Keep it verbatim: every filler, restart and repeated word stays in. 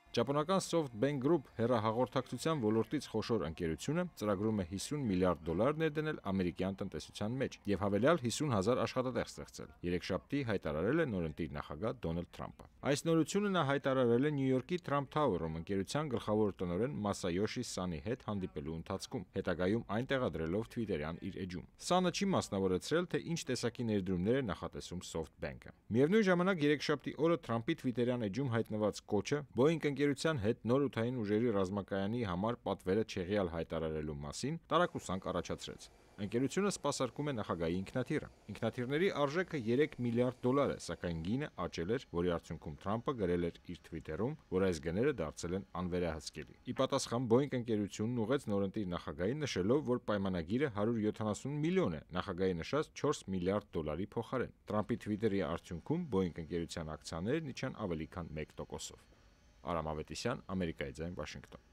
Ճապոնական SoftBank Group հեռահաղորդակցության ոլորտից խոշոր ընկերությունը ծրագրում է հիսուն միլիարդ դոլար ներդնել ամերիկյան տնտեսության մեջ եւ հավելյալ հիսուն հազար աշխատատեղ ստեղծել, երեքշաբթի հայտարարել է նորընտիր նախագահ Դոնալդ Թրամփը։ Այս նորությունը նա հայտարարել է Նյու Յորքի Trump Tower-ում ընկերության գլխավոր տնօրեն Մասայոշի Սանի հետ հանդիպելու ընթացքում, հետագայում այն տեղադրելով Twitter-յան իր էջում։ Սանը չի մասնավորեցրել, թե ինչ տեսակի ներդրումներ է նախատեսում SoftBank-ը։ Միևնույն ժամանակ երեքշաբթի օրը Թրամփի Twitter-յան էջում հայտնված կոչը Boeing ընկերության հետ նոր օդային ուժերի ռազմակայանի համար պատվերը չեղյալ հայտարարելու մասին տարակուսանք առաջացրեց։ Ընկերությունը սպասարկում է նախագահի ինքնաթիռը։ Ինքնաթիռների արժեքը երեք միլիարդ դոլար է, սակայն գինը աճել էր, որի արդյունքում Թրամփը գրել էր իր Twitter-ում, որ այս գները դարձել են անվերահսկելի։ Ի պատասխան Boeing ընկերությունն ուղղեց նորընտիր նախագահին, նշելով, որ պայմանագիրը հարյուր յոթանասուն միլիոն է, նախագահի նշած չորս միլիարդ դոլարի փոխարեն։ Թրամփի Twitter-ի արդյունքում Boeing ընկերության ակցիաներն իջան ավելի քան մեկ տոկոսով։ Արամ Ավետիսյան, Ամերիկայի ձայն, Վաշինգտոն։